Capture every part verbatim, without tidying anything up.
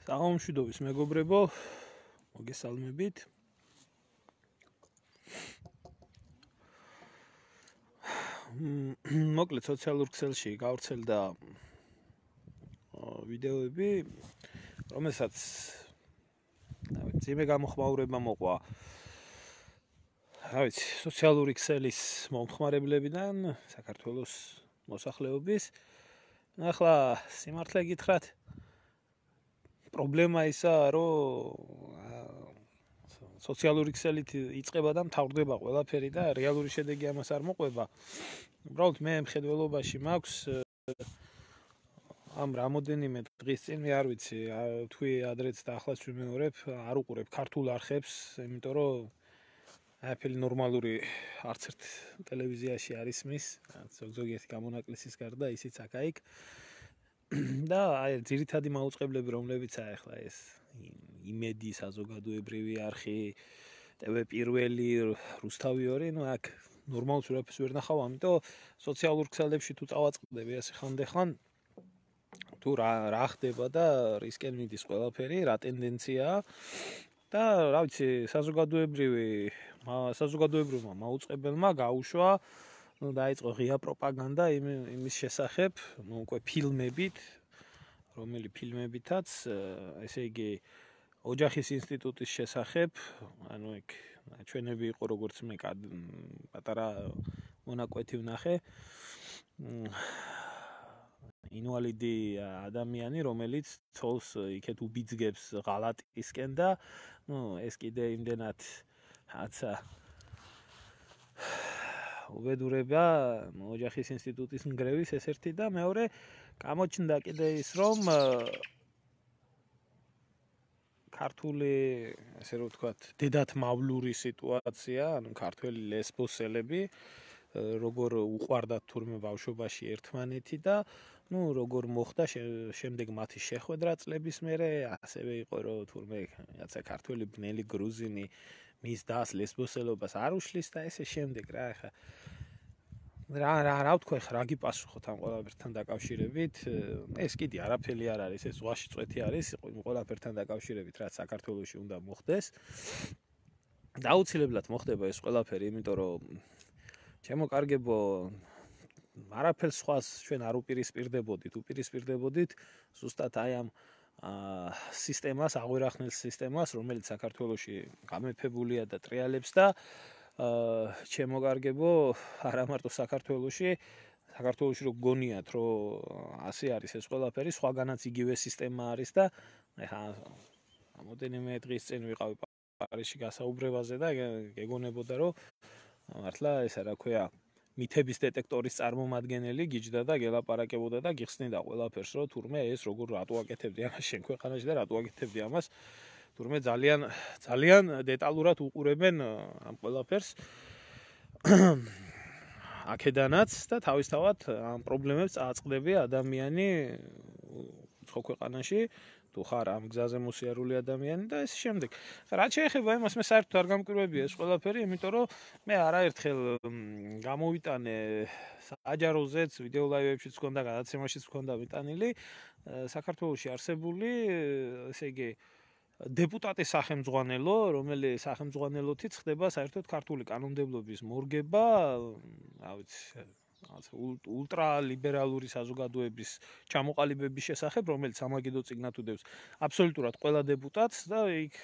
Საღამომშვიდობის მეგობრებო, მოგესალმებით. მოკლედ სოციალურ ქსელში გავრცელდა ვიდეოები, რომელსაც ძიმე გამოხმაურება მოყვა. რა ვიცი, სოციალური ქსელის მომხმარებლებიდან საქართველოს მოსახლეობის. ახლა სიმართლე გითხრათ, პრობლემა ისაა, რომ სოციალური ქსელით იწყება და მთავრდება ყველაფერი და რეალური შედეგი ამას არ მოყვება. უბრალოდ მე მხედველობაში მაქვს ამ რამოდენიმე დღის წინ, მე არ ვიცი, თქვი ადრეც და ახლაც ვიმეორებ, არ უყურებ ქართულ არხებს, იმიტომ რომ აფილი ნორმალური არც ერთ ტელევიზიაში არ ისმის, ზოგიერთი გამონაკლისის გარდა ისიც აქ-აიქ. და აი ძირითადი მაუწყებლები, რომლებიც აი ახლა ეს იმედი, საზოგადოებრივი არხი, ტევ პირველი, რუსთავი ორი, ну აქ ნორმალს ვერაფერს ვერ ნახავ, ამიტომ სოციალურ ქსელებში თუ წავაწყდები ასე ხანდახან, თუ რა რა ხდება და რისკენ მიდის ყველაფერი, რა ტენდენციაა და რა ვიცი, საზოგადოებრივი საზოგადოებრივმა მაუწყებელმა გაუშვა, ну დაიწყო ღია პროპაგანდა იმის შესახებ, ну უკვე ფილმებით, რომელი ფილმებითაც, ესე იგი ოჯახის ინსტიტუტის შესახებ, ანუ ეგ ჩვენები იყო როგორც მე პატარა მონაკვეთი ვნახე. ინვალიდი ადამიანი, რომელიც ცოლს იქეთ უბიძგებს ღალატისკენ და ну ეს კიდე იმდენად რაცა უბედურება ოჯახის ინსტიტუტის ნგრევის ეს ერთი და მეორე გამოჩნდა კიდე ის რომ ქართული ასე რომ ვთქვათ დედათმავლური სიტუაცია, ანუ ქართველი ლესბოსელები როგორ უყვარდათ თურმე ბავშვობაში ერთმანეთი და ну როგორ მოხდა შემდეგ მათი შეხვედრა წლების მერე, ასევე იყო რომ თურმე რაცა ქართველი ბნელი გრუზინი მის დას ლესბოსელობას არ უშლის და ესე შემდეგ რა ახლა რა რა რა ვთქვა ხა რა გიპასუხოთ ამ ყველაფერთან დაკავშირებით ეს კიდე არაფერი არ არის ეს ზღვაში წვეთი არის ყველაფერთან დაკავშირებით რაც საქართველოში უნდა მოხდეს დაუცილებლად მოხდება ეს ყველაფერი იმიტომ რომ ჩემო კარგებო არაფერს სხვას ჩვენ არ უპირისპირდებოდით უპირისპირდებოდით ზუსტად აი ამ სისტემას აღვირახნილ სისტემას რომელიც საქართველოში გამეფებულია და ტრიალებს და ჩემო კარგებო არა მარტო საქართველოში საქართველოში რო გონიათ რომ ასე არის ეს ყველაფერი სხვაგანაც იგივე სისტემა არის და ეხა რამოდენიმე დღის წინ ვიყავი პარიზში გასაუბრებაზე და გეგონებოდა რომ მართლა ესა რა ქვია მითების დეტექტორის წარმომადგენელი გიჯდა და გელაპარაკებოდა და გიხსნიდა ყველაფერს რომ თურმე ეს როგორ რატო აკეთებდი ამას შენ ქვეყანაში და რატო აკეთებდი ამას თურმე ძალიან ძალიან დეტალურად უყურებენ ამ ყველაფერს აქედანაც და თავისთავად ამ პრობლემებს წააწყდები ადამიანი ხო ქვეყანაში თუ ხარ ამ გზაზე მოსიარული ადამიანი და ეს შემდეგ. რაც შეეხება იმას, მე საერთოდ არ გამკვირვებია ეს ყველაფერი, იმიტომ რომ მე არაერთხელ გამოვიტანე საჯაროზეც, ვიდეო ლაივებშიც მქონდა, გადაცემაშიც მქონდა მიტანილი საქართველოში არსებული, ესე იგი დეპუტატის სახელმძღვანელო, რომელიც სახელმძღვანელოთიც ხდება საერთოდ ქართული კანონმდებლობის მორგება, რა ვიცი ულტრა ლიბერალური საზოგადოების ჩამოყალიბების შესახებ, რომელიც სამაგიდო წიგნად უდევს აბსოლუტურად ყველა დეპუტატს და იქ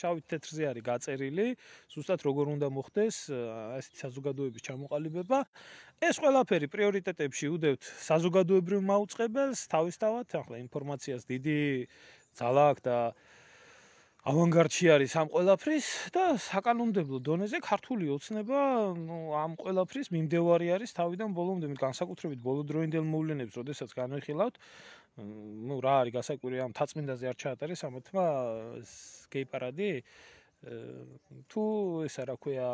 შავით თეთრზე არის გაწერილი, ზუსტად როგორ უნდა მოხდეს ასეთი საზოგადოების ჩამოყალიბება. ეს ყველაფერი პრიორიტეტებში უდევთ საზოგადოებრივ მაუწყებელს, თავისთავად, ახლა ინფორმაციას დიდი ძალა აქვს და ავანგარდში არის ამ ყველაფრის და საკანონმდებლო დონეზე ქართული ოცნება ამ ყველაფრის მიმდევარი არის თავიდან ბოლომდე, განსაკუთრებით ბოლოდროინდელ მოვლენებს, როდესაც განვიხილავთ, ну რა არის გასაკვირი ამ თაწმინდაზე არ ჩაატარეს ამათმა გეი პარადი თუ ესა რა ქვია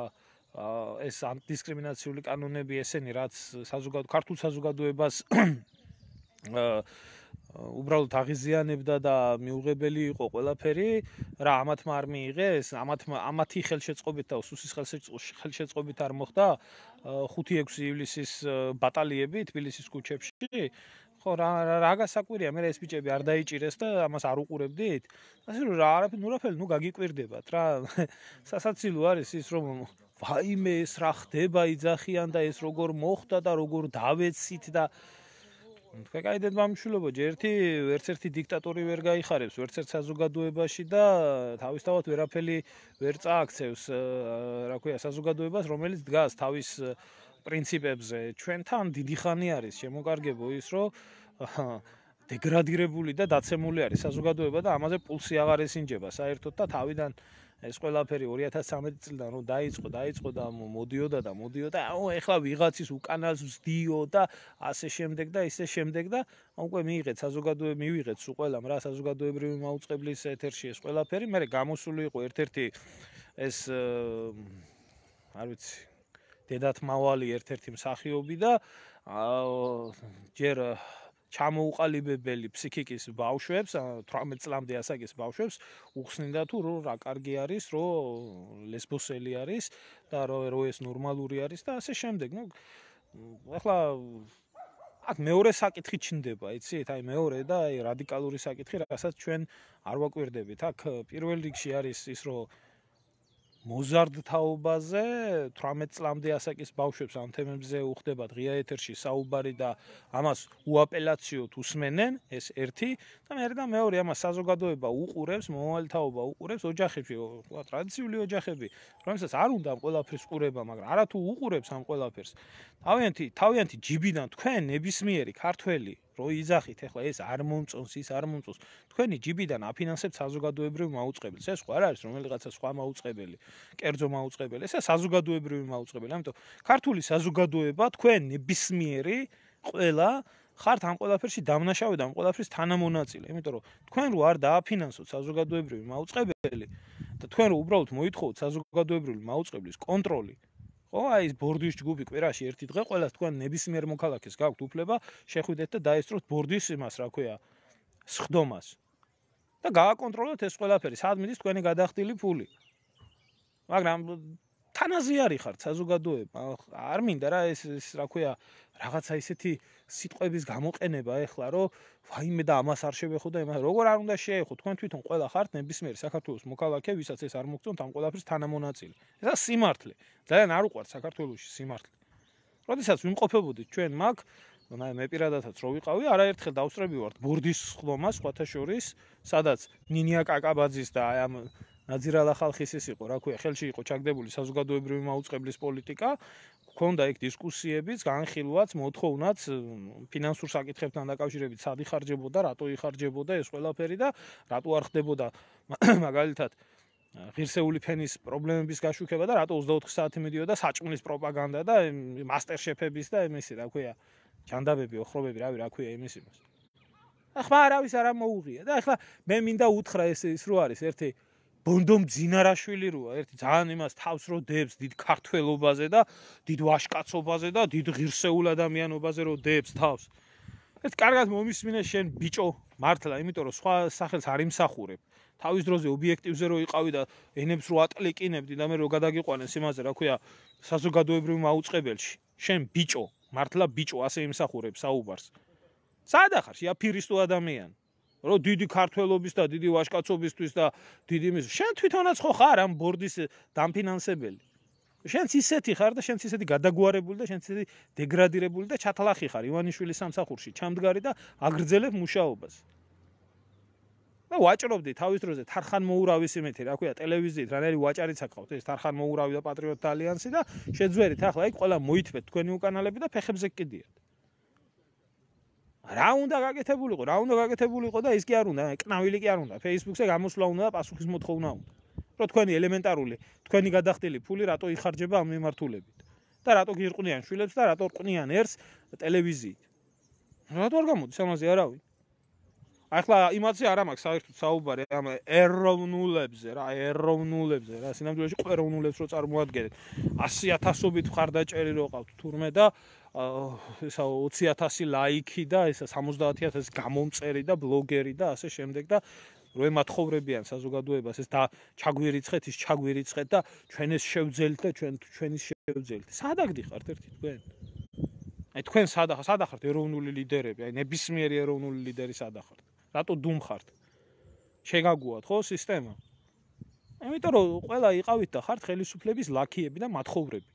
ეს ანტიდისკრიმინაციული კანონები ესენი რაც საზოგადო ქართულ საზოგადოებას უბრალოდ აღიზიანებდა და მიუღებელი იყო ყველაფერი, რა ამათმა არ მიიღეს, ამათმა ამათი ხელშეწყობით და უსუსის ხელშეწყობით არ მოხდა ხუთი ექვსი ივლისის ბატალიები თბილისის ქუჩებში, ხო რა რა გასაკვირია მე ეს ბიჭები არ დაიჭირეს და ამას არ უყურებდით ასე რომ რა არაფერი ნურაფელი ნუ გაგიკვირდებათ რა სასაცილო არის ის რომ ვაიმე ეს რა ხდება იძახიან და ეს როგორ მოხდა და როგორ დავეცით და თქვენ კაიდეთ მამშულობო ერთი ერთ-ერთი დიქტატორი ვერ გაიხარებს ვერც ერთ საზოგადოებაში და თავისთავად ვერაფერი ვერ წააქცევს რა ქვია საზოგადოებას რომელიც დგას თავის პრინციპებზე ჩვენთან დიდი ხანი არის შემოკარგებო ის რომ დეგრადირებული და დაცემული არის საზოგადოება და ამაზე პულსი აღარ ესინჯება საერთოდ და თავიდან ეს ყველაფერი ორი ათას ცხრამეტი წლიდან რომ დაიწყო დაიწყო და მოდიოდა და მოდიოდა აუ ეხლა ვიღაცის უკანას ვსდიო და ასე შემდეგ და ისე შემდეგ და უკვე მიიღეთ საზოგადოება მივიღეთ სულ ყველამ რა საზოგადოებრივი მაუწყებლის ეთერში ეს ყველაფერი მე გამოსული იყო ერთ-ერთი ეს არ ვიცი დედათმავალი ერთ-ერთი მსახიობი და ჯერ ჩამოუყალიბებელი ფსიქიკის ბავშვებს თვრამეტ წლამდე ასაკის ბავშვებს უხსნიდა თუ რა კარგი არის რომ ლესბოსელი არის და რომ ეს ნორმალური არის და ასე შემდეგ ნუ ახლა აქ მეორე საკითხი ჩნდება იცით აი მეორე და აი რადიკალური საკითხი რასაც ჩვენ არ ვაკვირდებით აქ პირველ რიგში არის ის რომ მოზარდთაობაზე თვრამეტ წლამდე ასაკის ბავშვებს ამ თემებზე უხდება ღია ეთერში საუბარი და ამას უაპელაციოდ უსმენენ ეს ერთი და მეორე და მეორე ამას საზოგადოება უყურებს მომავალთაობა უყურებს ოჯახებში ხო ტრადიციული ოჯახები რომელსაც არ უნდა ამ ყველაფრის ყურება მაგრამ არა თუ უყურებს ამ ყველაფერს თავიანთი თავიანთი ჯიბიდან თქვენ ნებისმიერი ქართველი რო იძახით ეხლა ეს არ მომწონს ის არ მომწონს თქვენი ჯიბიდან აფინანსებთ საზოგადოებრივ მაუწყებელს ეს ხო არ არის რომელიღაცა სხვა მაუწყებელი კერძო მაუწყებელი ესა საზოგადოებრივი მაუწყებელი ამიტომ ქართული საზოგადოება თქვენ ნებისმიერი ყველა ხართ ამ ყველაფერში დამნაშავე და ამ ყველაფრის თანამონაწილე იმიტომ რომ თქვენ რო არ დააფინანსოთ საზოგადოებრივი მაუწყებელი და თქვენ რო უბრალოდ მოითხოვოთ საზოგადოებრივი მაუწყებლის კონტროლი ხო აი ეს ბორდის ჯგუფი კვირაში ერთი დღე ყველას თქვენ ნებისმიერ მოქალაქეს გაქვთ უფლება შეხვიდეთ და დაესწროთ ბორდის იმას რა ქვია სხდომას და გააკონტროლოთ ეს ყველაფერი სად მიდის თქვენი გადახდილი ფული მაგრამ თანაზე არის ხართ საზოგადოება არ მინდა რა ეს ეს რა ქვია რაღაცა ისეთი სიტყვების გამოყენება ეხლა რომ ვაიმე და ამას არ შევეხო და იმას როგორ არ უნდა შეეხო თქვენ თვითონ ყველა ხართ ნებისმიერი საქართველოს მოქალაქე ვისაც ეს არ მოგწონთ ამ ყველაფრის თანამონაწილე ესა სიმართლე ძალიან არ უყვართ საქართველოში სიმართლე როდესაც ვიმყოფებოდით ჩვენ მაგ მე პირადადაც რო ვიყავი არაერთხელ დავსწრები ვართ ბორდის სხდომას სხვათა შორის სადაც ნინია კაკაბაძის და აი ამ ნაძირალა ხალხის ის იყო რა ქვია ხელში იყო ჩაგდებული საზოგადოებრივი მაუწყებლის პოლიტიკა გქონდა იქ დისკუსიებიც განხილვაც მოთხოვნაც ფინანსურ საკითხებთან დაკავშირებით სად იხარჯებოდა რატო იხარჯებოდა ეს ყველაფერი და რატო არ ხდებოდა მაგალითად ღირსეული ფენის პრობლემების გაშუქება და რატო ოცდაოთხი საათი მიდიოდა საჭმლის პროპაგანდა და მასტერშეფების და იმისი რა ქვია ჯანდაბები ოხრობები რავი რა ქვია იმის იმას ახლა არავის არ მოუღია და ახლა მე მინდა უთხრა ეს ის რო არის ერთი ბონდომ ძინარაშვილი როა ერთი ძალიან იმას თავს რო დებს დიდ ქართველობაზე და დიდ ვაჟკაცობაზე და დიდ ღირსეულ ადამიანობაზე რო დებს თავს ეს კარგად მომისმინე შენ ბიჭო მართლა იმიტომ რომ სხვა სახელს არ იმსახურებ თავის დროზე ობიექტივზე რო იყავი და ენებს რო ატლიკინებდი და მე რო გადაგიყვანეს იმაზე რა ქვია საზოგადოებრივ მაუწყებელში შენ ბიჭო მართლა ბიჭო ასე იმსახურებ საუბარს სადა ხარ შეაფირისტო ადამიანი რო დიდი ქართველობის და დიდი ვაჟკაცობისთვის და დიდი იმის შენ თვითონაც ხო ხარ ამ ბორდის დამფინანსებელი შენც ისეთი ხარ და შენც ისეთი გადაგვარებული და შენც ისეთი დეგრადირებული და ჩათლახი ხარ ივანიშვილის სამსახურში ჩამდგარი და აგრძელებ მუშაობას და ვაჭრობდი თავის დროზე თარხან მოურავის იმეთი რა ქვია ტელევიზიით რანაირი ვაჭარიც აკავთ ეს თარხან მოურავი და პატრიოტთა ალიანსი და შეძვერით ახლა იქ ყველა მოითმეთ თქვენი უკანალები და ფეხებზე გკიდიათ რა უნდა გაკეთებულიყო რა უნდა გაკეთებულიყო და ის კი არ უნდა კნავილი კი არ უნდა Facebook-ზე გამოსვლა უნდა და პასუხის მოთხოვნა უნდა რომ თქვენი ელემენტარული თქვენი გადახდილი ფული რატო იხარჯება ამ მიმართულებით და რატო გირყვნიან შვილებს და რატო რყვნიან ერთს ტელევიზიით რატო არ გამოდის ამაზე არავინ ახლა იმაზე არ მაქვს საერთოდ საუბარი ამ ეროვნულებზე რა ეროვნულებზე რა სინამდვილეში ეროვნულებს რო წარმოადგენთ ასი ათასობით მხარდაჭერი რო ყავთ თურმე და ესა ოცი ათასი ლაიქი და ესა სამოცდაათი ათასი გამომწერი და ბლოგერი და ასე შემდეგ და რო ემათხოვრებიან საზოგადოებას ეს და ჩაგვირიცხეთ ის ჩაგვირიცხეთ და ჩვენ ეს შევძელთ და ჩვენ ჩვენის შევძელთ სად აგდიხართ ერთი თქვენ აი თქვენ სადა სადა ხართ ეროვნული ლიდერები, აი ნებისმიერი ეროვნული ლიდერი სადა ხართ. რატო დუმ ხართ? შეგაგუათ ხო სისტემა? იმიტომ რომ ყველა იყავით და ხართ ხელისუფლების ლაქიები და მათხოვრები.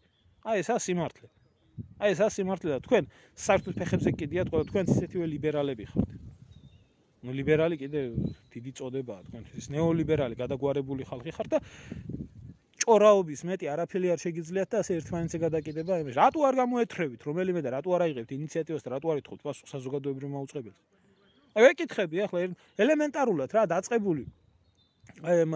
აი ესაა სიმართლე. აი ესაა სიმართლე და თქვენ საერთოდ ფეხებზე კიდიათ ყველა თქვენ ისეთივე ლიბერალები ხართ. ნუ ლიბერალი კიდე დიდი წოდებაა თქვენთვის. ნეოლიბერალი გადაგვარებული ხალხი ხართ და ჭორაობის მეტი არაფერი არ შეგიძლიათ და ასე ერთმანეთზე გადაკიდება იმაში. რატო არ გამოეთრევით რომელიმე და რატო არ აიღებთ ინიციატივას და რატო არ ეთხოვთ პასუხს საზოგადოებრივ მაუწყებელს? აი ვეკითხები ახლა ელემენტარულად რა დაწყებული აი ამ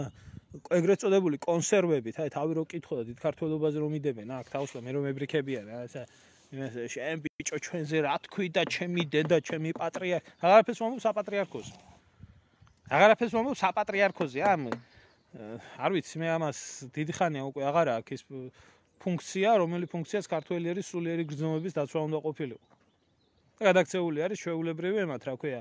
ეგრეთ წოდებული კონსერვებით, აი თავი რო კითხო და დიდ ქართველობაზე რომ იდებენ, აქ თავს და მე რომ მებრიქებიან რა, ესა იმასე შენ ბიჭო ჩვენზე რა თქვი და ჩემი დედა, ჩემი პატრიარქი, აღარაფერს მომობ საპატრიარქოზე. აღარაფერს მომობ საპატრიარქოზე, ამ არ ვიცი, მე ამას დიდი ხანია უკვე აღარა აქვს ის ფუნქცია, რომელიც ფუნქციაც ქართველი არის სულიერი გრძნობების დაცვა უნდა ყოფილიყო. და გადაქცეული არის ჩვეულებრივი ემათ, რა ქვია,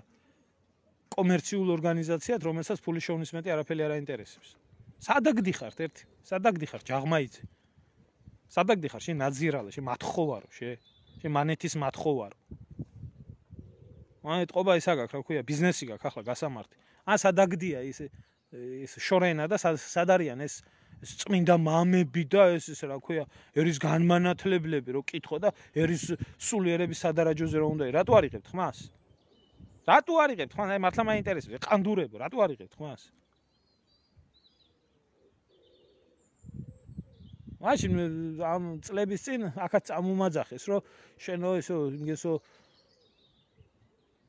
კომერციულ ორგანიზაციად, რომელსაც ფულის შოვნის მეტი არაფერი არ აინტერესებს. სადაგდი ხართ ერთი, სადაგდი ხართ ჯაღმაიძე. სადაგდი ხარ შენ ნაძირალა, შენ მათხოვარო, შე შენ მანეთის მათხოვარო. აი ტყობა ის აგაქვს, რა ქვია, ბიზნესი გაქვს ახლა გასამართი. ან სადაგდია ის ის შორენა და სად არიან ეს წმინდა მამები და ეს ის რა ქვია, ერის განმანათლებლები რო კითხო და ერის სულიერების სადარაჯოზე რო უნდა. რატო არიღებთ ხმას? რატო არიღებთ ხმას? აი მართლა მაინტერესებს, ყანდურებო, რატო არიღებთ ხმას? მაშინ ამ წლების წინ აქაც წამომაძახეს, რომ შენო ესო იმგესო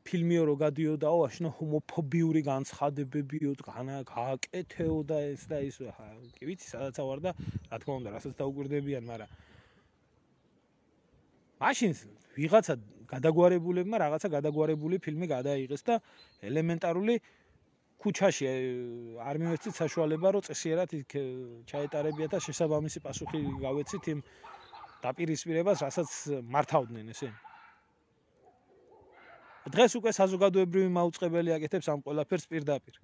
ფილმიო რო გადიოდაო, აშნო ჰომოფობიური განცხადებებიო, გააკეთეო და ეს და ის, კი ვიცი, სადაც ავარ და რა თქმა უნდა, რასაც დაუკვირდებიან, მაგრამ მაშინ ვიღაცა გადაგვარებულებმა რაღაცა გადაგვარებული ფილმი გადაიღეს და ელემენტარული ქუჩაში არ მივეცით საშუალება, რომ წესიერად იქ ჩაეტარებიათ და შესაბამისი პასუხი გავეცით იმ დაპირისპირებას, რასაც მართავდნენ ესე. დღეს უკვე საზოგადოებრივი მაუწყებელი აკეთებს ამ ყველაფერს პირდაპირ.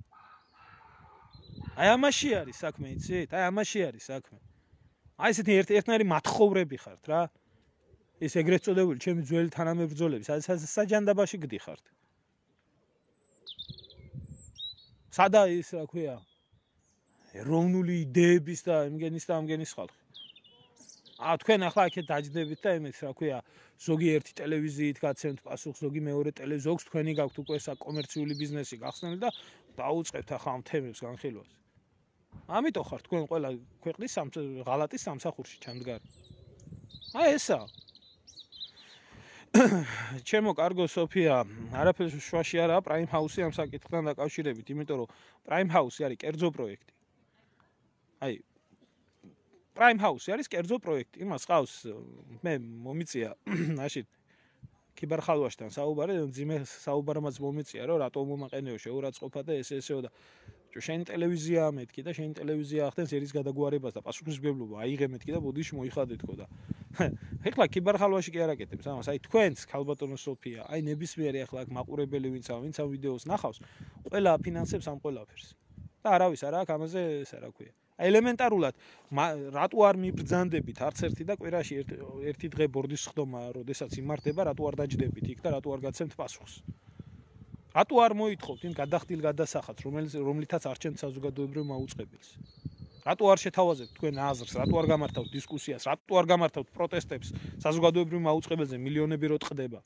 აი ამაში არის საქმე, იცით? აი ამაში არის საქმე. აი ესეთი ერთ-ერთნაირი მათხოვრები ხართ რა. ეს ეგრეთ წოდებული ჩემი ძველი თანამებრძოლები, საჯანდაბაში გდიხართ. სადა ის რა ქვია, ეროვნული იდეების და იმგენის და ამგენის ხალხი. ა თქვენ ახლა აქეთ დაჯდებით და იმით რა ქვია, ზოგი ერთი ტელევიზიით გაცემთ პასუხს, ზოგი მეორე ტელევიზია, ზოგს თქვენი გაქვთ უკვე საკომერციული ბიზნესი გახსნილი და დაუწყებთ ახლა ამ თემებს განხილვას. ამიტომ ხარ თქვენ ყველა ქვეყნის ღალატის სამსახურში ჩამდგარი. აი ესა. ჩემო კარგო სოფია, არაფერს შვაში არაა პრაიმ ჰაუსი ამ საკითხთან დაკავშირებით, იმიტომ რომ პრაიმ ჰაუსი არის კერძო პროექტი. აი პრაიმ ჰაუსი არის კერძო პროექტი. იმას ყავს მე მომიწია მაშინ ქიბარხალვაშთან საუბარი, ძიმე საუბარმაც მომიწია, რომ რატო მომაყენეო შეურაცხყოფა და ესე ესეო და შენი ტელევიზია მეთქი და შენი ტელევიზია ახდენს ერის გადაგვარებას და პასუხისმგებლობა აიღე მეთქი და ბოდიში მოიხადეთქო და ეხლა ქიბარხალვაში კი არ აკეთებს ამას. აი თქვენც ქალბატონო სოფია, აი ნებისმიერი ახლა აქ მაყურებელი ვინც ამ ვინც ამ ვიდეოს ნახავს, ყველა აფინანსებს ამ ყველაფერს. და არავის არ აქვს ამაზე ესა რა ქვია. აი ელემენტარულად რატო არ მიბრძანდებით არც ერთი და კვირაში ერთი დღე ბორდის ხდომა, როდესაც იმართება, რატო არ დაჯდებით იქ და რატო არ გაცემთ პასუხს? რატო არ მოითხოვთ იმ გადახდილ გადასახადს, რომელიც რომლითაც არჩენთ საზოგადოებრივ მაუწყებელს? რატო არ შეთავაზებთ თქვენ აზრს, რატო არ გამართავთ დისკუსიას, რატო არ გამართავთ პროტესტებს საზოგადოებრივ მაუწყებელზე მილიონები რო ტყდება?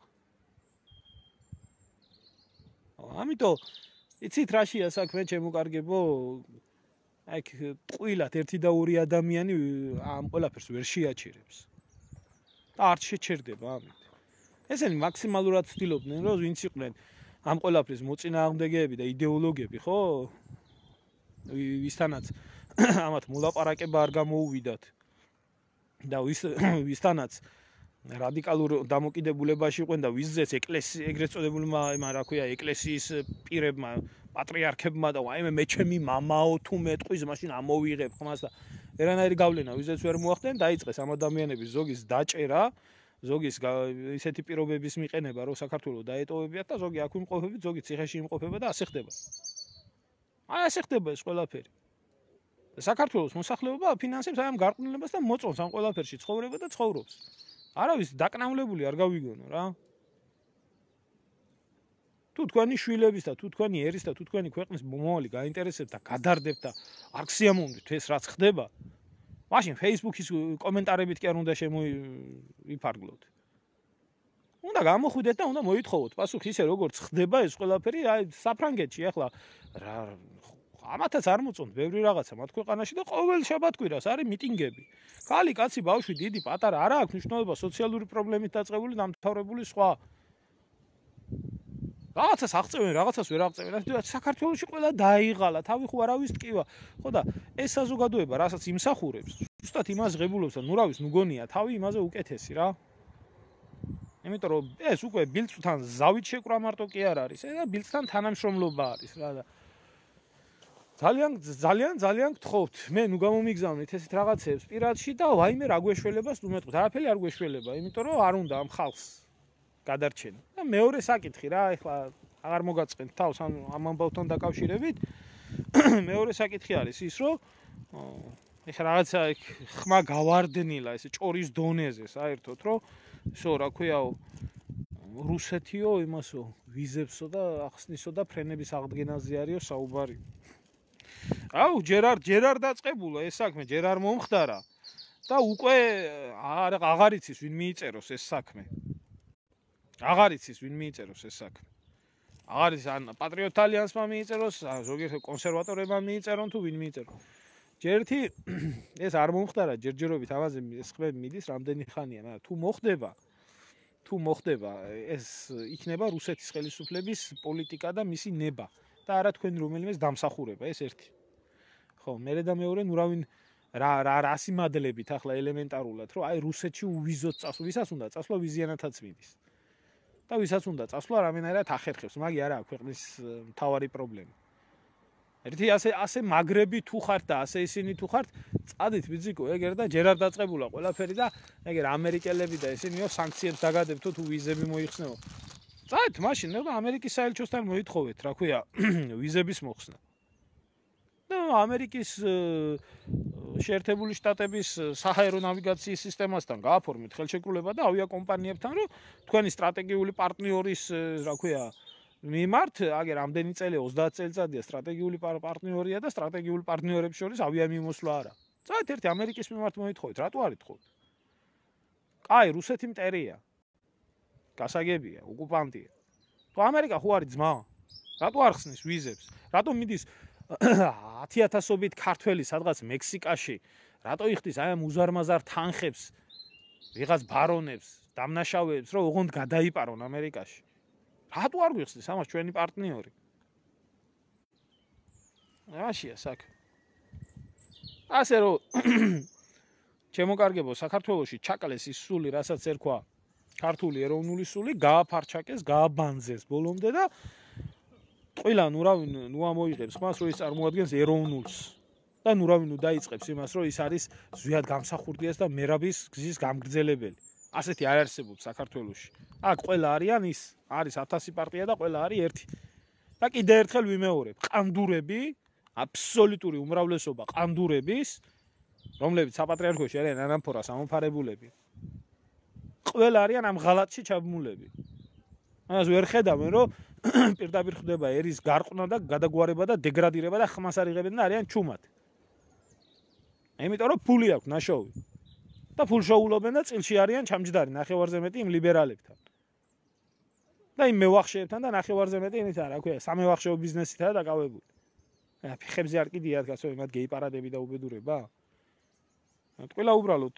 ამიტომ იცით რაშია საქმე, ჩემო კარგებო? აი ყვილად ერთი და ორი ადამიანი ამ ყველაფერს ვერ შეაჩერებს. და არ შეჩერდება ამით. ესენი მაქსიმალურად ცდილობდნენ, რომ ვინც იყვნენ ამ ყველაფრის მოწინააღმდეგეები და იდეოლოგები, ხო? ვისთანაც ამათ მოლაპარაკება არ გამოუვიდათ. და ვის ვისთანაც რადიკალურ დამოკიდებულებაში იყვნენ და ვიზეც ეკლესია ეგრეთ წოდებულმა რა ქვია, ეკლესიის პირებმა, პატრიარქებმა და ვაიმე მე ჩემი მამაო თუ მეტყვის, მაშინ ამოვიღებ ხმას და ერანაირი გავლენა ვიზეც ვერ მოახდენ, დაიწყეს ამ ადამიანების ზოგის დაჭერა, ზოგის ისეთი პირობების მიყენება, რომ საქართველოს დაეტოვებიათ და ზოგი აქ იმყოფებით, ზოგი ციხეში იმყოფება და ასე ხდება. აი ასე ხდება ეს ყველაფერი. საქართველოს მოსახლეობა აფინანსებს აი ამ გარყვნილებას და მოწონს ამ ყველაფერში ცხოვრება და ცხოვრობს. არავის დაკნავლებული არ გავიგონო რა. თუ თქვენი შვილების და თუ თქვენი ერის და თუ თქვენი ქვეყნის მომავალი გაინტერესებთ და გადარდებთ და არ გსიამოვნებთ ეს რაც ხდება, მაშინ Facebook-ის კომენტარებით კი არ უნდა შემოიფარგლოთ. უნდა გამოხვიდეთ და უნდა მოითხოვოთ პასუხი ისე როგორც ხდება ეს ყველაფერი აი საფრანგეთში ახლა რა ამათაც არ მოწონთ ბევრი რაღაცა მათ ქვეყანაში და ყოველ შაბათ-კვირას არის მიტინგები. ქალი, კაცი, ბავშვი, დიდი, პატარა, არა აქვს მნიშვნელობა სოციალური პრობლემით დაწყებული, დამთავრებული სხვა. რაღაცას აღწევენ, რაღაცას ვერ აღწევენ. საქართველოში ყველა დაიღალა, თავი ხო არავის ტკივა. ხო და ეს საზოგადოება, რასაც იმსახურებს, ზუსტად იმას ღებულობს და ნუ რა ვიცი, ნუ გონია, თავი იმაზე უკეთესი რა. იმიტომ რომ ეს უკვე ბილწვთან ზავით შეკრა მარტო კი არ არის, ეს ბილწთან თანამშრომლობა არის რა და ძალიან ძალიან ძალიან გთხოვთ, მე ნუ გამომიგზავნით ესეთ რაღაცებს პირადში და ვაიმე რა გვეშველებას ნუ მეტყვით, არაფერი არ გვეშველება, იმიტომ რომ არ უნდა ამ ხალხს გადარჩენა. და მეორე საკითხი რა, ეხლა აღარ მოგაწყენთ თავს ამ ამბავთან დაკავშირებით. მეორე საკითხი არის ის, რომ ეხლა რაღაცა ხმა გავარდნილა ესე ჭორის დონეზე საერთოდ, რომ შო რა ქვიაო რუსეთიო იმასო ვიზებსო და ახსნისო და ფრენების აღდგენაზე არისო საუბარი. აუ ჯერ არ ჯერ არ დაწყებულა ეს საქმე, ჯერ არ მომხდარა და უკვე აღარ იცის ვინ მიიწეროს ეს საქმე. აღარ იცის ვინ მიიწეროს ეს საქმე. აღარ იცის ან პატრიოტ ალიანსმა მიიწეროს, ზოგიერთ კონსერვატორებმა მიიწერონ თუ ვინ მიიწეროს. ჯერთი ეს არ მომხდარა ჯერჯერობით ამაზე ეს ხმები მიდის რამდენი ხანია, მაგრამ თუ მოხდება თუ მოხდება ეს იქნება რუსეთის ხელისუფლების პოლიტიკა და მისი ნება და არა თქვენ რომელიმეს დამსახურება ეს ერთი. ხო, მერე და მეორე ნუ რავინ რა რა რასიმადლებით ახლა ელემენტარულად რომ აი რუსეთში უვიზოთ წასვლა, ვისაც უნდა წასვლა ვიზიანათაც მიდის. და ვისაც უნდა წასვლა რამენერად ახერხებს, მაგი არა ქვეყნის მთავარი პრობლემა. ერთი ასე ასე მაგრები თუ ხართ და ასე ისინი თუ ხართ, წადით ბიძიკო, ეგერ და ჯერ არ დაწყებულა ყველაფერი და ეგერ ამერიკელები და ისინიო სანქციებს დაგადებთო თუ ვიზები მოიხსნეო. წადით მაშინ და ამერიკის საელჩოსთან მოითხოვეთ, რა ქვია, ვიზების მოხსნა. და ამერიკის შეერთებული შტატების საჰაერო ნავიგაციის სისტემასთან გააფორმეთ ხელშეკრულება და ავიაკომპანიებთან, რომ თქვენი სტრატეგიული პარტნიორის, რა ქვია, მიმართ, აგერ ამდენი წელი ოცდაათ წელიწადია სტრატეგიული პარტნიორია და სტრატეგიული პარტნიორებს შორის ავიამიმოსვლა არა. წავით ერთი ამერიკის მიმართ მოითხოვეთ, რატო არ ითხოვთ? კაი, რუსეთი მტერია. გასაგებია, ოკუპანტია. თუ ამერიკა ხო არის ძმა? რატო არ ხსნის ვიზებს? რატო მიდის ათი ათასობით ქართველი სადღაც მექსიკაში? რატო იხდის აი ამ უზარმაზარ თანხებს, ვიღაც ბარონებს, დამნაშავეებს, რომ ოღონდ გადაიპარონ ამერიკაში? რატო არ გვიხსნის ამას ჩვენი პარტნიორი? რაშია საქმე? ასე რომ ჩემო კარგებო, საქართველოში ჩაკლეს ის სული, რასაც ერქვა ქართული ეროვნული სული, გააფარჩაკეს, გააბანძეს ბოლომდე და ყველა ნუ რავინ ნუ ამოიღებს ხმას, რომ ის წარმოადგენს ეროვნულს. და ნუ რავინ ნუ დაიწყებს იმას, რომ ის არის ზვიად გამსახურდიას და მერაბის გზის გამგრძელებელი. ასეთი არ არსებობს საქართველოში. აქ ყველა არიან ის, არის ათასი პარტია და ყველა არის ერთი. და კიდე ერთხელ ვიმეორებ, ყანდურები, აბსოლუტური უმრავლესობა ყანდურების, რომლებიც საპატრიარქოში არიან ანამფორას ამოფარებულები. ყველა არიან ამ ღალატში ჩაბმულები. ამას ვერ ხედავენ, რომ პირდაპირ ხდება ერის გარყვნა და გადაგვარება და დეგრადირება და ხმას არ იღებენ და არიან ჩუმად. იმიტომ რომ ფული აქვს ნაშოვი. და ფულშოულობენ და წილში არიან ჩამჯდარი ნახევარზე მეტი იმ ლიბერალებთან. და იმ მევახშეებთან და ნახევარზე მეტი იმით რა ქვია, სამევახშეო ბიზნესითაა დაკავებული. აი, ფეხებზე არ კიდიათ გასო იმათ გეიპარადები და უბედურება. ყველა უბრალოდ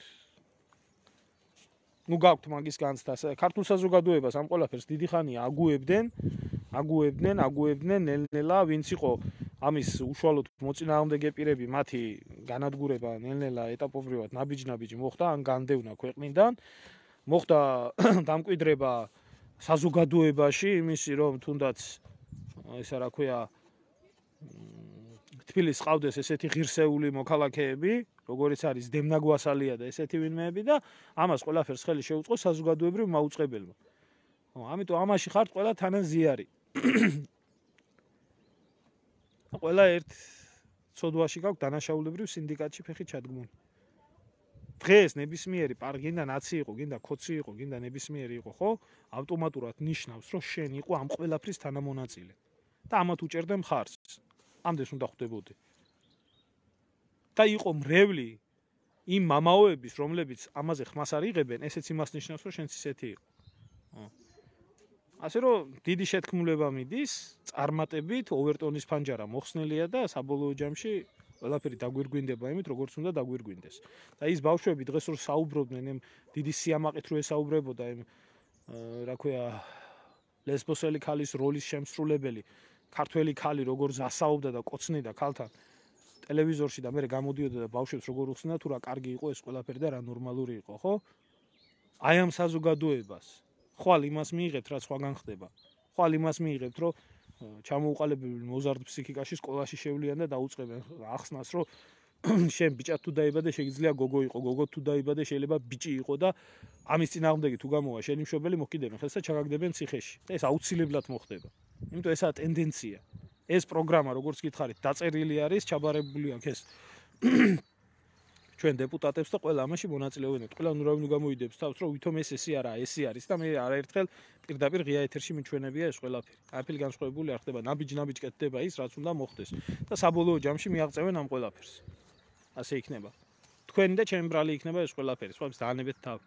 ნუ გაქვთ მაგის განცდა. ქართულ საზოგადოებას ამ ყველაფერს დიდი ხანია აგუებდნენ, აგუებდნენ, აგუებდნენ ნელ-ნელა, ვინც იყო ამის უშუალოდ მოწინააღმდეგე პირები, მათი განადგურება ნელ-ნელა ეტაპობრივად ნაბიჯ-ნაბიჯი მოხდა, ან განდევნა ქვეყნიდან, მოხდა დამკვიდრება საზოგადოებაში, იმისი რომ თუნდაც ესა რა ქვია, თბილისს ყავდეს ესეთი ღირსეული მოქალაქეები, როგორიც არის დემნა გვასალია და ესეთი ვინმეები და ამას ყველაფერს ხელი შეუწყო საზოგადოებრივ მაუწყებელმა. ხო, ამიტომ ამაში ხართ ყველა თანაზიარი. ყველა ერთ ცოდვაში გაქვს დანაშაულებრივ სინდიკატში ფეხი ჩადგმული. დღეს ნებისმიერი პარკი გინდა ნაცი იყო, გინდა ქოცი იყო, გინდა ნებისმიერი იყო, ხო? ავტომატურად ნიშნავს, რომ შენ იყო ამ ყველაფრის თანამონაწილე. და ამათ უჭერდა მხარს. ამდენს უნდა ხვდებოდი. და იყო მრევლი იმ მამაოების, რომლებიც ამაზე ხმას არ იღებენ, ესეც იმას ნიშნავს, რომ შენც ისეთი იყო. ასე რომ დიდი შეთქმულება მიდის, წარმატებით ოვერტონის ფანჯარა მოხსნილია და საბოლოო ჯამში ყველაფერი დაგვირგვინდება იმით, როგორც უნდა დაგვირგვინდეს. და ის ბავშვები დღეს რო საუბრობდნენ, იმ დიდი სიამაყით რო ესაუბრებოდა იმ რა ქვია ლესბოსელი ქალის როლის შემსრულებელი, ქართველი ქალი როგორ ზასაობდა და კოცნიდა ქალთან ტელევიზორში და მე გამოდიოდა და ბავშვებს როგორ უხსნიდა თუ რა კარგი იყო ეს ყველაფერი და რა ნორმალური იყო, ხო? აი ამ საზოგადოებას ხვალ იმას მიიღებთ, რაც სხვაგან ხდება. ხვალ იმას მიიღებთ, რომ ჩამოუყალიბებული მოზარდ ფსიქიკაში სკოლაში შევლიან და დაუწყებენ ახსნას, რომ შენ ბიჭად თუ დაიბადე, შეიძლება გოგო იყო, გოგო თუ დაიბადე, შეიძლება ბიჭი იყო და ამის წინააღმდეგი თუ გამოვა შენი მშობელი მოხიდებენ ხელს და ჩაგაგდებენ ციხეში. და ეს აუცილებლად მოხდება. იმიტომ ესაა ტენდენცია. ეს პროგრამა, როგორც გითხარით, დაწერილი არის, ჩაბარებული აქვს ეს ჩვენ დეპუტატებს და ყველა ამაში მონაწილეობენ. ყველა ნურავინ გამოიდებს თავს, რომ ვითომ ეს ესი არა, ესი არის და მე არაერთხელ პირდაპირ ღია ეთერში მიჩვენებია ეს ყველაფერი. აფილი განსხვავებული არ ხდება, ნაბიჯ-ნაბიჯ კეთდება ის, რაც უნდა მოხდეს და საბოლოო ჯამში მიაღწევენ ამ ყველაფერს. ასე იქნება. თქვენი და ჩემი ბრალი იქნება ეს ყველაფერი, სხვაებს დაანებეთ თავი.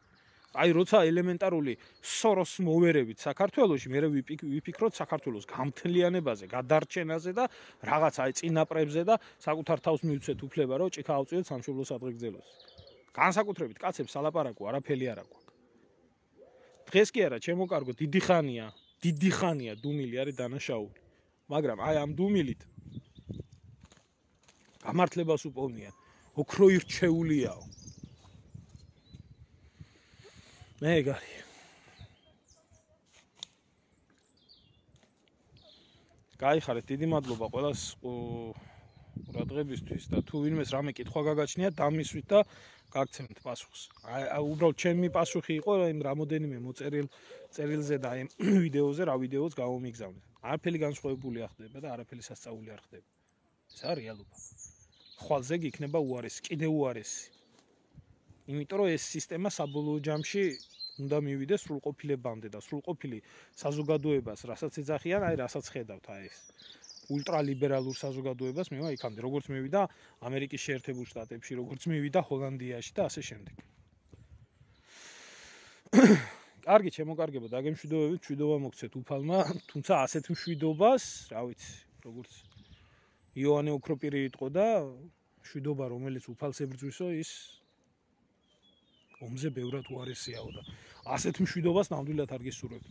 აი როცა ელემენტარული სოროს მოვერებით საქართველოში, მე ვიფიქროთ საქართველოს გამთლიანებაზე, გადარჩენაზე და რაღაც აი წინაპრებზე და საკუთარ თავს მივცეთ უფლება, რომ ჭიქა ავწიოთ სამშობლოს ადრეგზელოს. განსაკუთრებით კაცებს ალაპარაკო, არაფერი არ აქვს. დღეს კი არა, ჩემო კარგო, დიდი ხანია, დიდი ხანია დუმილი არის დანაშაული. მაგრამ აი ამ დუმილით გამართლებას უპოვნიან. ოქრო ირჩეულიაო. მეგარი გაიხარეთ, დიდი მადლობა ყველას ყურადღებისთვის და თუ ვინმეს რამე კითხვა გაგაჩნია, დამისვით და გაგცემთ პასუხს. აი უბრალოდ ჩემი პასუხი იყო იმ რამოდენიმე მოწერილ წერილზე და იმ ვიდეოზე, რა ვიდეოც გავომიგზავნეთ. არაფერი განსხვავებული არ ხდება და არაფერი სასწაული არ ხდება. ეს არის რეალობა. ხვალზე იქნება უარესი, კიდე უარესი. იმიტომ რომ ეს სისტემა საბოლოო ჯამში უნდა მივიდეს სრულყოფილებამდე და სრულყოფილი საზოგადოებას, რასაც ეძახიან, აი რასაც ხედავთ, აი ეს ულტრალიბერალურ საზოგადოებას მევა იქამდე, როგორც მივიდა ამერიკის შეერთებულ შტატებში, როგორც მივიდა ჰოლანდიაში და ასე შემდეგ. კარგი, შემოკარგებო, დაგემშვიდობებით, მშვიდობა მოგცეთ უფალმა, თუმცა ასეთ მშვიდობას, რა ვიცი, როგორც იოანე ოქროპირი იტყო და მშვიდობა, რომელიც უფალს ებრძვისო, ის ომზე ბევრად უარესიაო და ასეთ მშვიდობას ნამდვილად არ გისურვებთ.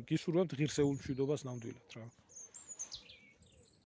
გისურვებთ ღირსეულ მშვიდობას ნამდვილად რა.